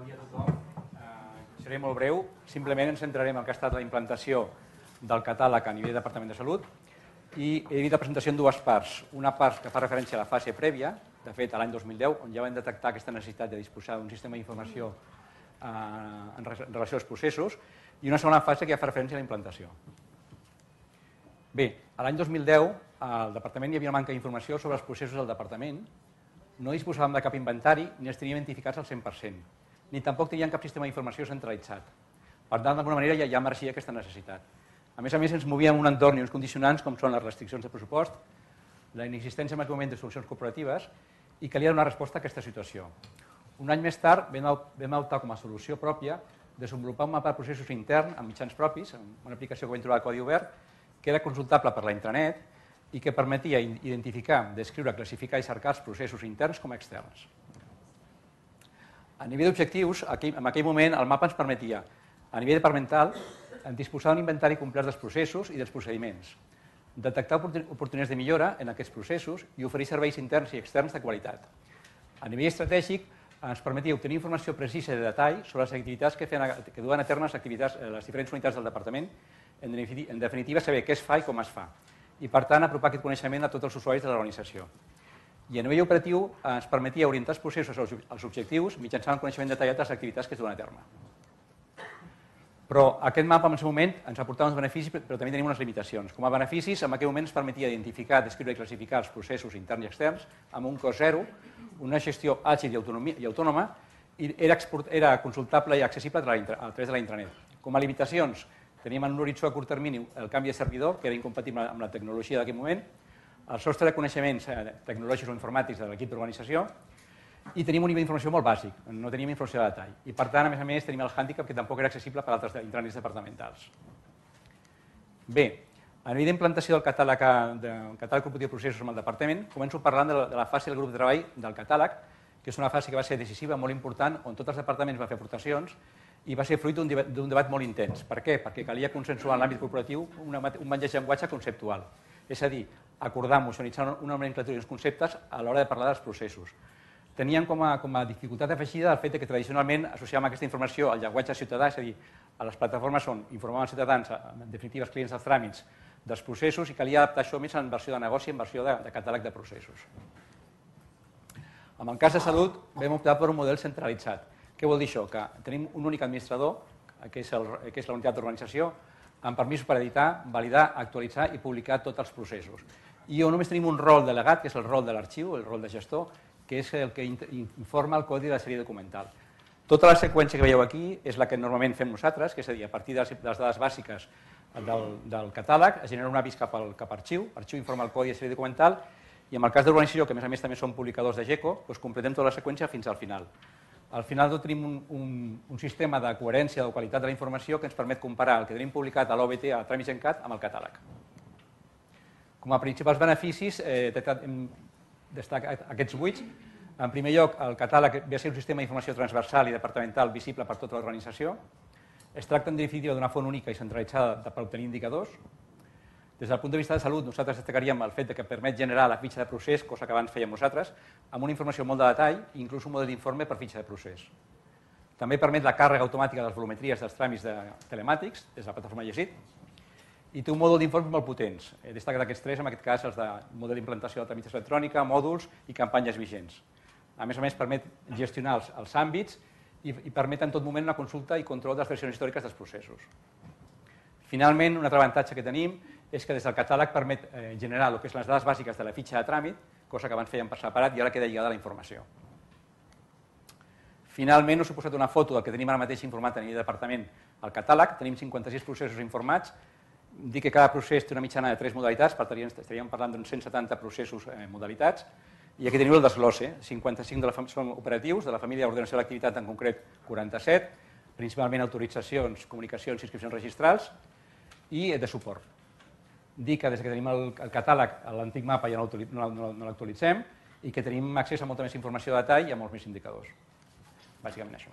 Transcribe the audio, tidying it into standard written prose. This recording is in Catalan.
Bon dia a tothom. Seré molt breu. Simplement ens centrarem en el que ha estat la implantació del catàleg a nivell del Departament de Salut i he dividit la presentació en dues parts. Una part que fa referència a la fase prèvia, de fet, a l'any 2010, on ja vam detectar aquesta necessitat de disposar d'un sistema d'informació en relació als processos, i una segona fase que ja fa referència a la implantació. Bé, a l'any 2010 al Departament hi havia una manca d'informació sobre els processos del Departament, no disposàvem de cap inventari ni els teníem identificats al 100%, ni tampoc teníem cap sistema d'informació centralitzat. Per tant, d'alguna manera ja emergia aquesta necessitat. A més, ens movíem en un entorn i uns condicionants com són les restriccions de pressupost, la inexistència en aquell moment de solucions cooperatives i calia donar resposta a aquesta situació. Un any més tard vam optar com a solució pròpia desenvolupar un mapa de processos intern amb mitjans propis, amb una aplicació que vam trobar de codi obert, que era consultable per la intranet i que permetia identificar, descriure, classificar i cercar els processos interns com externs. A nivell d'objectius, en aquell moment el mapa ens permetia, a nivell departamental, disposar d'un inventari complet dels processos i dels procediments, detectar oportunitats de millora en aquests processos i oferir serveis interns i externs de qualitat. A nivell estratègic, ens permetia obtenir informació precisa i de detall sobre les activitats que duen a terme les diferents unitats del departament, en definitiva saber què es fa i com es fa, i per tant apropar aquest coneixement a tots els usuaris de l'organització. I a nivell operatiu ens permetia orientar els processos als objectius mitjançant el coneixement detallat de les activitats que es duen a terme. Però aquest mapa en el seu moment ens aportava uns beneficis, però també tenim unes limitacions. Com a beneficis, en aquell moment ens permetia identificar, descriure i classificar els processos interns i externs amb un cost zero, una gestió àgil i autònoma, i era consultable i accessible a través de la intranet. Com a limitacions, teníem en un horitzó a curt termini el canvi de servidor, que era incompatible amb la tecnologia d'aquell moment, el sostre de coneixements tecnològics o informàtics de l'equip d'organització, i tenim un nivell d'informació molt bàsic, no teníem informació de detall. I per tant, a més, tenim el hàndicap que tampoc era accessible per altres intranets departamentals. Bé, a nivell d'implantació del catàleg corporatiu de processos amb el departament, començo parlant de la fase del grup de treball del catàleg, que és una fase que va ser decisiva, molt important, on tots els departaments van fer aportacions i va ser fruit d'un debat molt intens. Per què? Perquè calia consensuar en l'àmbit corporatiu un mateix llenguatge conceptual. És a dir, acordar, mocionalitzar una nomenclatura i uns conceptes a l'hora de parlar dels processos. Teníem com a dificultat afegida el fet que tradicionalment associàvem aquesta informació al llenguatge ciutadà, és a dir, a les plataformes on informàvem els ciutadans, en definitiva els clients dels tràmits, dels processos, i calia adaptar això més en versió de negoci, en versió de catàleg de processos. En el cas de salut vam optar per un model centralitzat. Què vol dir això? Que tenim un únic administrador, que és la unitat d'organització, amb permisos per editar, validar, actualitzar i publicar tots els processos. I on només tenim un rol delegat, que és el rol de l'arxiu, el rol de gestor, que és el que informa el codi de la sèrie documental. Tota la seqüència que veieu aquí és la que normalment fem nosaltres, que és a dir, a partir de les dades bàsiques del catàleg es genera un avís cap a arxiu, arxiu informa el codi de sèrie documental, i en el cas d'organització, que a més també són publicadors de GECO, completem tota la seqüència fins al final. Al final tenim un sistema de coherència, de qualitat de la informació que ens permet comparar el que tenim publicat a l'OBT, a Tràmits ENCAT, amb el catàleg. Com a principals beneficis, hem destacat aquests 8. En primer lloc, el catàleg ve a ser un sistema d'informació transversal i departamental visible per tota l'organització. Es tracta, en definitiva, d'una font única i centralitzada per obtenir indicadors. Des del punt de vista de salut, nosaltres destacaríem el fet que permet generar la fitxa de procés, cosa que abans fèiem nosaltres, amb una informació molt de detall i inclús un model d'informe per fitxa de procés. També permet la càrrega automàtica de les volumetries dels tràmits telemàtics des de la plataforma Llegit i té un mòdul d'informes molt potents. He destacat aquests tres, en aquest cas els de model d'implantació de tramitació electrònica, mòduls i campanyes vigents. A més, permet gestionar els àmbits i permet en tot moment una consulta i control de les versions històriques dels processos. Finalment, un altre avantatge que tenim és que des del catàleg permet generar el que són les dades bàsiques de la fitxa de tràmit, cosa que abans fèiem per separat i ara queda lligada a la informació. Finalment, us he posat una foto del que tenim ara mateix informat a nivell de departament al catàleg. Tenim 56 processos informats. Dic que cada procés té una mitjana de 3 modalitats, per tant estaríem parlant d'uns 170 processos modalitats. I aquí teniu el desglose. 55 són operatius, de la família d'ordenació de l'activitat en concret 47, principalment autoritzacions, comunicacions i inscripcions registrals i de suport. Dic que des que tenim el catàleg, l'antic mapa ja no l'actualitzem i que tenim accés a molta més informació de detall i a molts més indicadors. Bàsicament això.